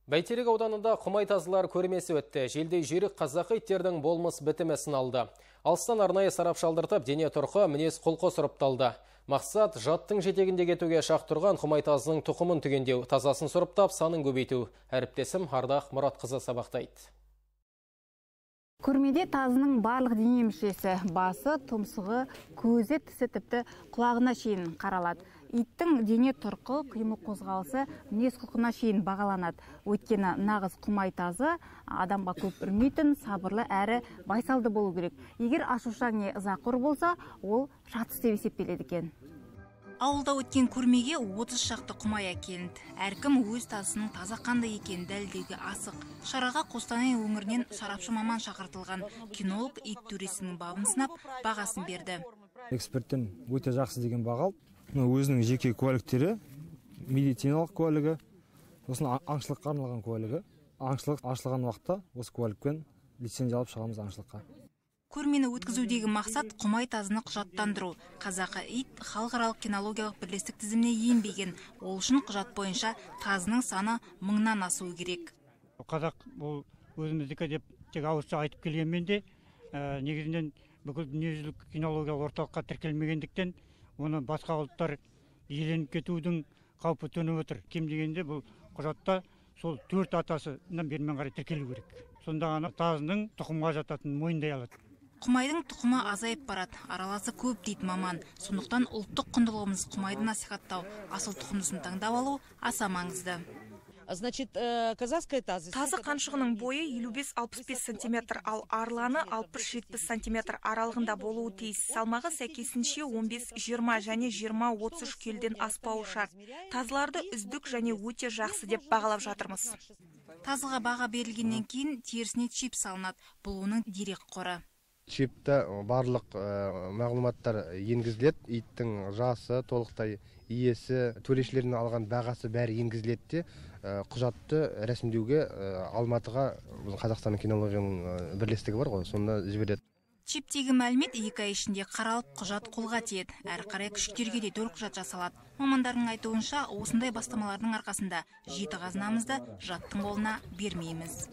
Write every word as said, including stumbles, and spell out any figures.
Бәйтерек ауданында құмай тазылар көрмесі өтті. Желдей жүйрік қазақы иттердің болмыс бітімесін алды. Алыстан арнайы сарапшалдыртып, дене тұрқы мінез құлқы сұрыпталды. Мақсат жаттың жетегінде кетуге шақ тұрған құмай тазының тұқымын түгендеу, тазасын сұрыптап, санын көбейту. Әріптесім Ардақ Мұратқызы сабақтайды. Көрмеде тазының барлық дене мүшесі, басы, тұмсығы, көзі, тісі тіпті құлағына шейін қаралады. Иттің дене тұрқы, қимыл қозғалысы мінез құлқына шейін бағаланады. Өйткені нағыз құмай тазы адамға көп үрмейтін, сабырлы әрі байсалды болу керек. Егер ашушаң не ызақор болса, ол жатыс деп есептеледі екен. Ауылда өткен көрмеге отыз шақты құмай әкелінді. Әркім өз тазысының таза қандай екенін дәлелдеуге асық. Шараға Қостанай өңірінен сарапшы маман шақыртылған. Кинолог ит төресінің бабын сынап, бағасын берді. Эксперттен өте жақсы деген баға алды. Өзінің жеке куәліктері, медициналық куәлігі, сосын аңшылыққа арналған куәлігі. Аңшылық ашылған уақытта осы куәлікпен лицензия алып шығамыз аңшылыққа. Көрмені өткізудегі мақсат құмай тазыны құжаттандыру. Қазақы ит халықаралық кинологиялық бірлестік тізіміне енбеген. Ол үшін құжат бойынша тазының саны мыңнан асуы керек. Қазақ бұл өзіміздікі деп тек ауызша айтып келгенмен де, негізінен бүкіл дүниежүзілік кинологиялық орталыққа тіркелмегендіктен, оны басқа ұлттар иеленіп кетудің қаупі төніп отыр. Кем дегенде бұл құжатта сол төрт атасынан бермен қарай тіркелу керек. Сонда ғана тазының тұқымға жататынын мойындай алады. Құмайдың тұқымы азайып барады, араласы көп дейді маман. Сондықтан ұлттық құндылығымыз құмайды насихаттау, асыл тұқымдысын таңдап алу аса маңызды. Тазы қаншығының бойы елу бес алпыс бес сантиметр, ал арланы алпыс жетпіс сантиметр аралығында болуы тиіс. Салмағы сәйкесінше он бес жиырма және жиырма отыз үш келіден аспауы шарт. Тазыларды үздік және өте жақсы деп бағалап жатырмыз. Тазыға баға берілгеннен кейін терісіне чип салынады. Бұл оның дерек қоры. Чипта барлық мағлұматтар енгізіледі. Иттің жасы, толықтай иесі, төрешілердің алған бағасы бәрі енгізіледі. Құжатты рәсімдеуге Алматыға Қазақстанның кинологияның бірлестігі бар ғой, сонда жібереді. Чиптегі мәлімет екі ай ішінде қаралып, құжат қолға тиеді. Әрі қарай күшіктерге де төлқұжат жасалады. Мамандардың айтуынша, осындай бастамалардың арқасында жеті қазынамызды жаттың қолына бермейміз.